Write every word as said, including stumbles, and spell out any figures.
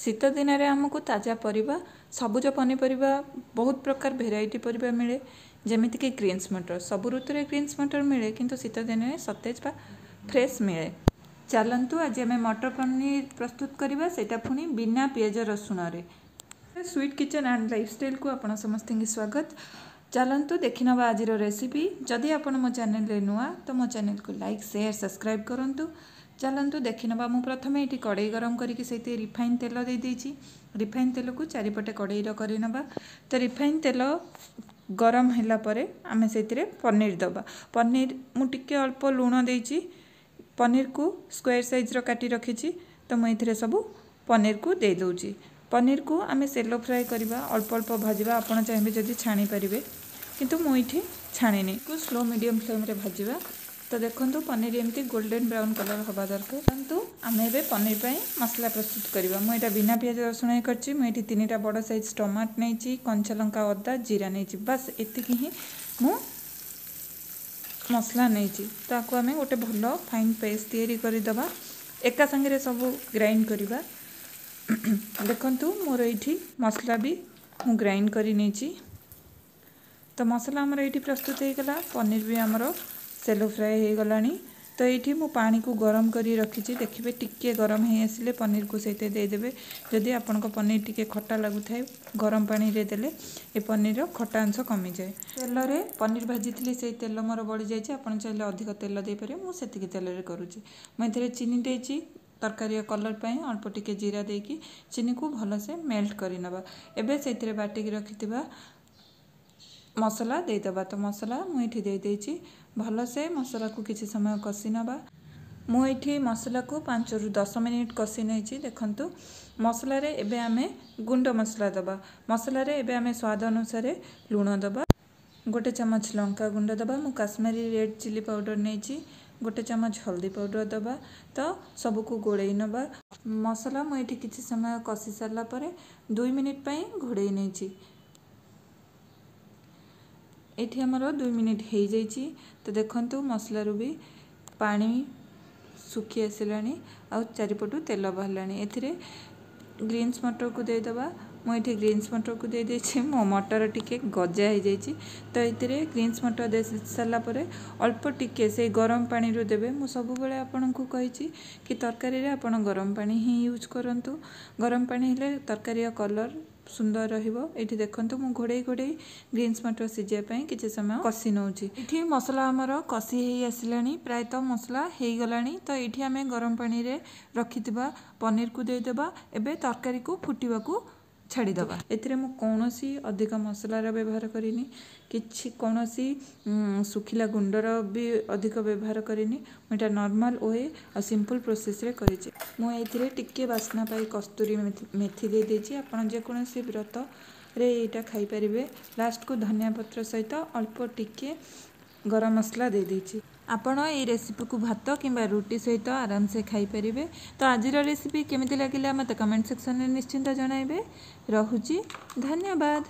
ଶୀତ ଦିନରେ ଆମକୁ ତାଜା ପରିବା, ସବୁଜ ପନିପରିବା, ବହୁତ ପ୍ରକାର ଭେରାଇଟି ପରିବା ମିଳେ, ଯେମିତିକି ଗ୍ରୀନ୍ସ ମଟର। ସବୁ ଋତୁରେ ଗ୍ରୀନ୍ସ ମଟର ମିଳେ, କିନ୍ତୁ ଶୀତ ଦିନରେ ସତେଜ ବା ଫ୍ରେଶ୍ ମିଳେ। ଚାଲନ୍ତୁ, ଆଜି ଆମେ ମଟର ପନିର ପ୍ରସ୍ତୁତ କରିବା, ସେଇଟା ପୁଣି ବିନା ପିଆଜ ରସୁଣରେ। ସୁଇଟ୍ କିଚେନ୍ ଆଣ୍ଡ ଲାଇଫଷ୍ଟାଇଲ୍କୁ ଆପଣ ସମସ୍ତଙ୍କୁ ସ୍ୱାଗତ। ଚାଲନ୍ତୁ ଦେଖିନେବା ଆଜିର ରେସିପି। ଯଦି ଆପଣ ମୋ ଚ୍ୟାନେଲରେ ନୂଆ, ତ ମୋ ଚ୍ୟାନେଲକୁ ଲାଇକ୍, ସେୟାର, ସବସ୍କ୍ରାଇବ୍ କରନ୍ତୁ। ଚାଲନ୍ତୁ ଦେଖିନେବା। ମୁଁ ପ୍ରଥମେ ଏଇଠି କଡ଼େଇ ଗରମ କରିକି ସେଇଥିରେ ରିଫାଇନ୍ ତେଲ ଦେଇଦେଇଛି। ରିଫାଇନ୍ ତେଲକୁ ଚାରିପଟେ କଡ଼େଇର କରିନେବା। ତ ରିଫାଇନ୍ ତେଲ ଗରମ ହେଲା ପରେ ଆମେ ସେଇଥିରେ ପନିର ଦେବା। ପନିର ମୁଁ ଟିକେ ଅଳ୍ପ ଲୁଣ ଦେଇଛି। ପନିରକୁ ସ୍କୋୟାର ସାଇଜ୍ର କାଟି ରଖିଛି, ତ ମୁଁ ଏଥିରେ ସବୁ ପନିରକୁ ଦେଇଦେଉଛି। ପନିରକୁ ଆମେ ସେଲୋ ଫ୍ରାଏ କରିବା, ଅଳ୍ପ ଅଳ୍ପ ଭାଜିବା। ଆପଣ ଚାହିଁବେ ଯଦି ଛାଣି ପାରିବେ, କିନ୍ତୁ ମୁଁ ଏଇଠି ଛାଣିନି। ସ୍ଲୋ ମିଡ଼ିୟମ୍ ଫ୍ଲେମ୍ରେ ଭାଜିବା। ତ ଦେଖନ୍ତୁ, ପନିର ଏମିତି ଗୋଲ୍ଡେନ୍ ବ୍ରାଉନ୍ କଲର୍ ହେବା ଦରକାର। ଦେଖନ୍ତୁ, ଆମେ ଏବେ ପନିର ପାଇଁ ମସଲା ପ୍ରସ୍ତୁତ କରିବା। ମୁଁ ଏଇଟା ବିନା ପିଆଜ ରସୁଣ କରିଛି। ମୁଁ ଏଇଠି ତିନିଟା ବଡ଼ ସାଇଜ୍ ଟମାଟୋ ନେଇଛି, କଞ୍ଚା ଲଙ୍କା, ଅଦା, ଜିରା ନେଇଛି। ବାସ୍, ଏତିକି ହିଁ ମୁଁ ମସଲା ନେଇଛି। ତାକୁ ଆମେ ଗୋଟେ ଭଲ ଫାଇନ୍ ପେଷ୍ଟ ତିଆରି କରିଦେବା। ଏକା ସାଙ୍ଗରେ ସବୁ ଗ୍ରାଇଣ୍ଡ କରିବା। ଦେଖନ୍ତୁ, ମୋର ଏଇଠି ମସଲା ବି ମୁଁ ଗ୍ରାଇଣ୍ଡ କରି ନେଇଛି। ତ ମସଲା ଆମର ଏଇଠି ପ୍ରସ୍ତୁତ ହେଇଗଲା। ପନିର ବି ଆମର ସେଲୋ ଫ୍ରାଏ ହେଇଗଲାଣି। ତ ଏଇଠି ମୁଁ ପାଣିକୁ ଗରମ କରି ରଖିଛି। ଦେଖିବେ, ଟିକିଏ ଗରମ ହେଇ ଆସିଲେ ପନିରକୁ ସେଇଥିରେ ଦେଇଦେବେ। ଯଦି ଆପଣଙ୍କ ପନିର ଟିକେ ଖଟା ଲାଗୁଥାଏ, ଗରମ ପାଣିରେ ଦେଲେ ଏ ପନିରର ଖଟା ଅଂଶ କମିଯାଏ। ତେଲରେ ପନିର ଭାଜିଥିଲି, ସେଇ ତେଲ ମୋର ବଳିଯାଇଛି। ଆପଣ ଚାହିଁଲେ ଅଧିକ ତେଲ ଦେଇପାରିବେ, ମୁଁ ସେତିକି ତେଲରେ କରୁଛି। ମୁଁ ଏଥିରେ ଚିନି ଦେଇଛି ତରକାରୀର କଲର୍ ପାଇଁ। ଅଳ୍ପ ଟିକେ ଜିରା ଦେଇକି ଚିନିକୁ ଭଲସେ ମେଲ୍ଟ କରିନେବା। ଏବେ ସେଇଥିରେ ବାଟିକି ରଖିଥିବା ମସଲା ଦେଇଦେବା। ତ ମସଲା ମୁଁ ଏଇଠି ଦେଇଦେଇଛି। ଭଲସେ ମସଲାକୁ କିଛି ସମୟ କଷି ନେବା। ମୁଁ ଏଇଠି ମସଲାକୁ ପାଞ୍ଚରୁ ଦଶ ମିନିଟ୍ କଷି ନେଇଛି। ଦେଖନ୍ତୁ, ମସଲାରେ ଏବେ ଆମେ ଗୁଣ୍ଡ ମସଲା ଦେବା। ମସଲାରେ ଏବେ ଆମେ ସ୍ୱାଦ ଅନୁସାରେ ଲୁଣ ଦେବା, ଗୋଟେ ଚାମଚ ଲଙ୍କା ଗୁଣ୍ଡ ଦେବା। ମୁଁ କାଶ୍ମୀରୀ ରେଡ଼୍ ଚିଲି ପାଉଡ଼ର ନେଇଛି। ଗୋଟେ ଚାମଚ ହଳଦୀ ପାଉଡ଼ର ଦେବା। ତ ସବୁକୁ ଗୋଳେଇ ନେବା। ମସଲା ମୁଁ ଏଇଠି କିଛି ସମୟ କଷି ସାରିଲା ପରେ ଦୁଇ ମିନିଟ୍ ପାଇଁ ଘୋଡ଼େଇ ନେଇଛି। ଏଇଠି ଆମର ଦୁଇ ମିନିଟ୍ ହେଇଯାଇଛି। ତ ଦେଖନ୍ତୁ, ମସଲାରୁ ବି ପାଣି ଶୁଖି ଆସିଲାଣି ଆଉ ଚାରିପଟୁ ତେଲ ବାହାରିଲାଣି। ଏଥିରେ ଗ୍ରୀନ୍ସ ମଟରକୁ ଦେଇଦେବା। ମୁଁ ଏଇଠି ଗ୍ରୀନ୍ସ ମଟରକୁ ଦେଇଦେଇଛି। ମୋ ମଟର ଟିକେ ଗଜା ହେଇଯାଇଛି। ତ ଏଥିରେ ଗ୍ରୀନ୍ସ ମଟର ଦେଇ ସାରିଲା ପରେ ଅଳ୍ପ ଟିକେ ସେଇ ଗରମ ପାଣିରୁ ଦେବେ। ମୁଁ ସବୁବେଳେ ଆପଣଙ୍କୁ କହିଛି କି ତରକାରୀରେ ଆପଣ ଗରମ ପାଣି ହିଁ ୟୁଜ୍ କରନ୍ତୁ। ଗରମ ପାଣି ହେଲେ ତରକାରୀର କଲର୍ ସୁନ୍ଦର ରହିବ। ଏଇଠି ଦେଖନ୍ତୁ, ମୁଁ ଘୋଡ଼େଇ ଘୋଡ଼େଇ ଗ୍ରୀନ୍ସ ମଟର ସିଝିବା ପାଇଁ କିଛି ସମୟ କଷି ନେଉଛି। ଏଇଠି ମସଲା ଆମର କଷି ହେଇ ଆସିଲାଣି, ପ୍ରାୟତଃ ମସଲା ହେଇଗଲାଣି। ତ ଏଇଠି ଆମେ ଗରମ ପାଣିରେ ରଖିଥିବା ପନିରକୁ ଦେଇଦେବା। ଏବେ ତରକାରୀକୁ ଫୁଟିବାକୁ ଛାଡ଼ିଦେବା। ଏଥିରେ ମୁଁ କୌଣସି ଅଧିକ ମସଲାର ବ୍ୟବହାର କରିନି, କିଛି କୌଣସି ଶୁଖିଲା ଗୁଣ୍ଡର ବି ଅଧିକ ବ୍ୟବହାର କରିନି। ମୁଁ ଏଇଟା ନର୍ମାଲ୍ we ଆଉ ସିମ୍ପଲ୍ ପ୍ରୋସେସ୍ରେ କରିଛି। ମୁଁ ଏଇଥିରେ ଟିକିଏ ବାସ୍ନା ପାଇଁ କସ୍ତୁରୀ ମେଥି ଦେଇଦେଇଛି। ଆପଣ ଯେକୌଣସି ବ୍ରତରେ ଏଇଟା ଖାଇପାରିବେ। ଲାଷ୍ଟକୁ ଧନିଆ ପତ୍ର ସହିତ ଅଳ୍ପ ଟିକିଏ ଗରମ ମସଲା ଦେଇଦେଇଛି। ଆପଣ ଏଇ ରେସିପିକୁ ଭାତ କିମ୍ବା ରୁଟି ସହିତ ଆରାମସେ ଖାଇପାରିବେ। ତ ଆଜିର ରେସିପି କେମିତି ଲାଗିଲା, ମୋତେ କମେଣ୍ଟ ସେକ୍ସନରେ ନିଶ୍ଚିନ୍ତ ଜଣାଇବେ। ରହୁଛି, ଧନ୍ୟବାଦ।